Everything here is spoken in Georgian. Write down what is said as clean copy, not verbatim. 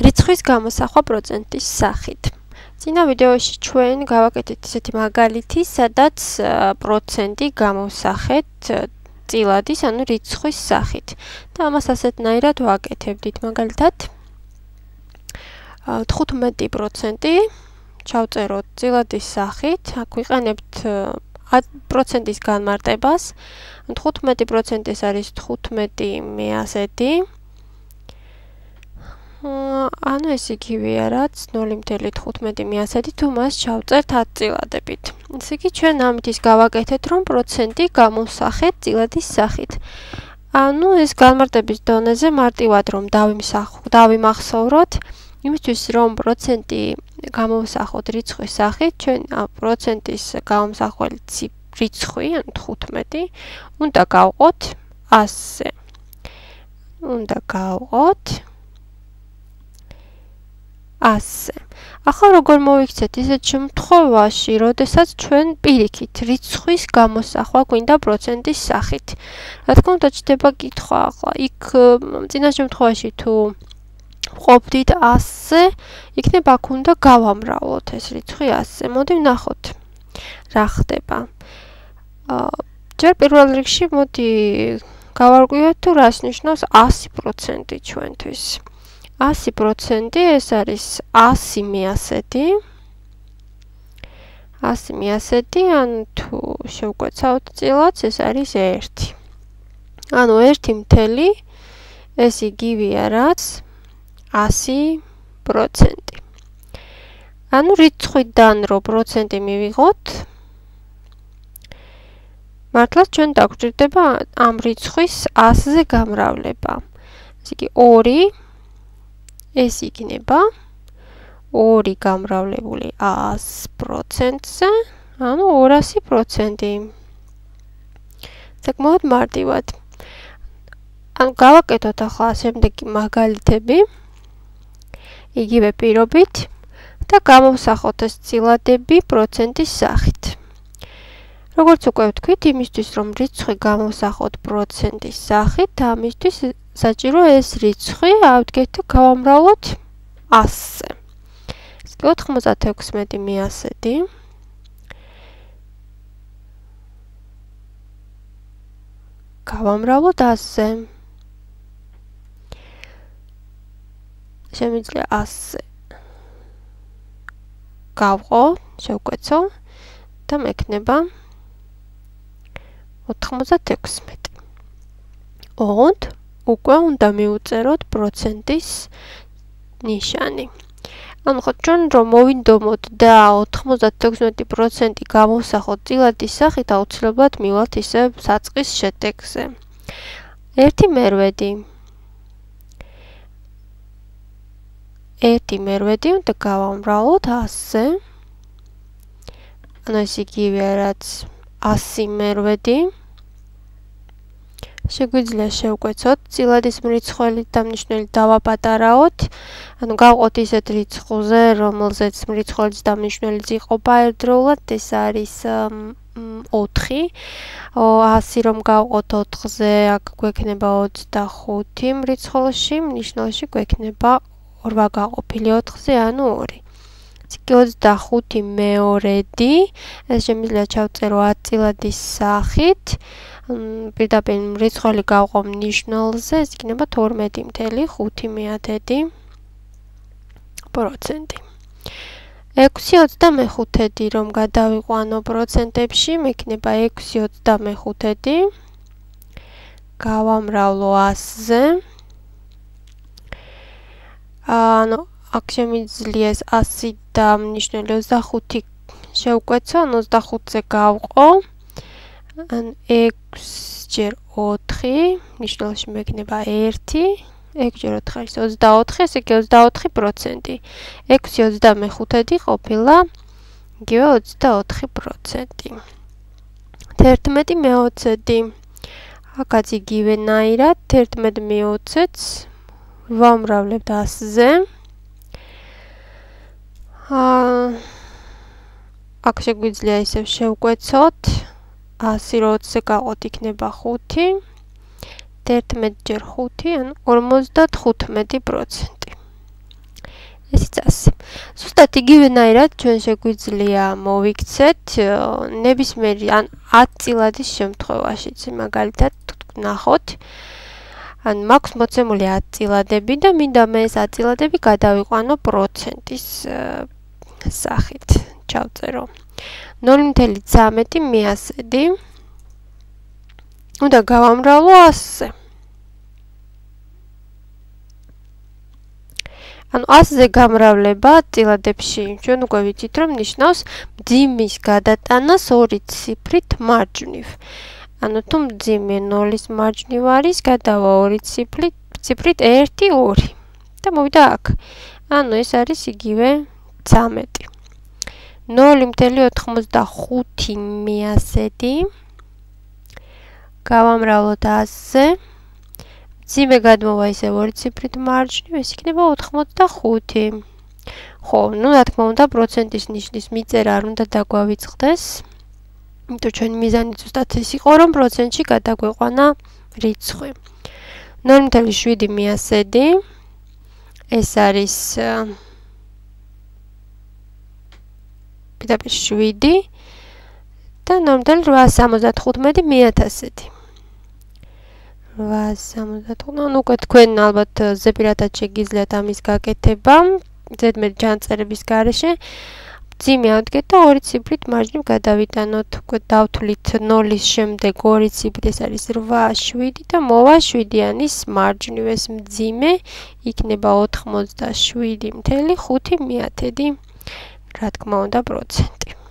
რიცხვის გამოსახვა პროცენტის სახით. წინა ვიდეოში ჩვენ გავაკეთეთ ისეთი მაგალითი, სადაც პროცენტი გამოვსახეთ წილადის, ანუ რიცხვის სახით. და ამას ასეთნაირად ვაკეთებდით. მაგალითად 15% ჩავწეროთ წილადის სახით, აქ ვიყენებთ პროცენტის განმარტებას. 15% ეს არის 15/100. ანუ ეს იგივეა, რაც 0.15/100 თუ მას ჩავწერთ 10 წილადებით. ესე იგი, ჩვენ ამით ის გავაკეთეთ, რომ პროცენტი გამოვსახეთ წილადის სახით. ანუ ეს განმარტების დონეზე მარტივად რომ დავიმახსოვროთ, იმისთვის რომ პროცენტი გამოვსახოთ რიცხვის სახით, ჩვენ პროცენტის გამომსახველი რიცხვი, ანუ 15, უნდა გავყოთ 100-ზე. უნდა გავყოთ 100-ზე. ახლა როგორ მოვიქცეთ ისეთ შემთხვევაში, როდესაც ჩვენ პირიქით რიცხვის გამოსახვა გვინდა პროცენტის სახით. რა თქმა უნდა, ჩდება კითხვა ახლა. იქ წინა შემთხვევაში თუ ვყოფდით 100-ზე, იქნება აქ უნდა გავამრავლოთ ეს რიცხვი 100-ზე. მოდი ვნახოთ რა ხდება. ჯერ პირველ რიგში მოდი გავარკვიოთ თუ რას ნიშნავს 100% ჩვენთვის. 100% ეს არის 100/100. 100/100, ანუ თუ შევკვეცავთ წილადს, ეს არის 1. ანუ 1 ეს იგივეა, რაც 100%. ანუ რიცხვიდან რო პროცენტი მივიღოთ, მართლაც ჩვენ დაგვჭირდება ამ რიცხვის 100-ზე გამრავლება. ესე იგი 2 ეს იქნება 2 გამრავლებული 100%-ზე, ანუ 200%. საკმაოდ მარტივად. ანუ გავაკეთოთ ახლა შემდეგი მაგალითები, იგივე პირობით და გამოვსახოთ ეს წილადები პროცენტის სახით. როგორც უკვე ვთქვით, იმისთვის რომ რიცხვი გამოვსახოთ პროცენტის სახით, ამისთვის საჭირო ეს რიცხვი ავდგეთ და გავამრავლოთ 100-ზე. ეს კი 96/100. გავამრავლოთ 100-ზე. შემიძლია 100-ზე გავყო, შევკვეცო და მექნება 96. ოღონდ უკვე უნდა მივუწეროთ პროცენტის ნიშანი. ანუ ხო ჩვენ რომ მოვინდომოთ და 96% გამოვსახოთ წილადის სახით, აუცილებლად მივალთ ისევ საწყის შედეგზე. 1/1. 1/1 უნდა გავამრავლოთ 100-ზე. ანუ ეს იგივეა, რაც 100/1. შეგვიძლია შევკვეცოთ წილადის მრიცხველი და მნიშვნელით დავაპატარაოთ. ანუ გავყოთ ისეთ რიცხვზე, რომელზეც მრიცხვლის და მნიშვნელიც იყოფა ერთდროულად, ეს არის 4. 100 რომ გავყოთ 4-ზე, აქ გვექნება 25 მრიცხველში, მნიშვნელში გვექნება 8 გაყოფილი 4-ზე, ანუ 2. ეს კი 25/2, ეს შემიძლია ჩავწერო 10 წილადის სახით. პირდაპირ მრიცხველი გავყო ნიშნულზე, ეს იქნება 12.5%. 6/25 რომ გადავიყვანო პროცენტებში, მექნება 6/25. გავამრავლო 100-ზე. ანუ აქ შემიძლია ეს 100 და მნიშვნელი 25 შევკვეცო, ანუ 25-ზე გავყო. ან 6/4 ნიშნულში მექნება 1, 6/4 არის 24, ესე იგი 24%. 6/25 ყოფილა იგივე 24%. 11/20. აქაც იგივენაირად 11/20-ს ვამრავლებთ 100-ზე. აქ შეგვიძლია ისევ შევკვეცოთ. 100 რო 20-ზე გავყოთ, იქნება 5. 11 ჯერ 5, ანუ 55%. ესეც ასე. ზუსტად იგივენაირად ჩვენ შეგვიძლია მოვიქცეთ ნებისმიერი ან 10 წილადის შემთხვევაშიც, მაგალითად ნახოთ. ან მაქვს მოცემული 10 წილადები და მინდა მე ეს 10 წილადები გადავიყვანო პროცენტის სახით. ჩავწერო 0.13 მეასედი. უნდა გავამრავლო 100-ზე. ანუ 100-ზე გამრავლება წილადებში ჩვენ უკვე ვიცით რომ ნიშნავს მძიმის გადატანას 2 ციფრით მარჯვნივ. ანუ თუ მძიმე 0-ის მარჯვნივ არის, გადავა 2 ციფრით 1 2 და მოვიდა აქ. ანუ ეს არის იგივე 13. 0.85 მეასედი. გავამრავლოთ 100-ზე. მძიმე გადმოვა ისე 2 ციფრით მარჯვნივ, ეს იქნება 85. ხო, ну, რა თქმა უნდა, პროცენტის ნიშნის მიწერა არ უნდა დაგვავიწყდეს. იმიტომ ჩვენი მიზანი ზუსტად ეს იყო, რომ პროცენტში გადაგვეყვანა რიცხვი. 0.7 მეასედი. ეს არის პირდაპირ 7 და 0.875 მეათასედი. 875, ну, უკვე თქვენ ალბათ ზეპირადად შეგიძლიათ ამის გაკეთება, ზედმეტ ჯანწერების გარეშე. მძიმე ავდგეთ და 2 ციფრით მარჯვნივ გადავიტანოთ. უკვე დავთვლით 0-ის შემდეგ 2 ციფრი, ეს არის 8, 7 და მოვა 7-იანის მარჯვნივ. ეს მძიმე იქნება 87.5 მეათედი. რა თქმა უნდა, პროცენტი.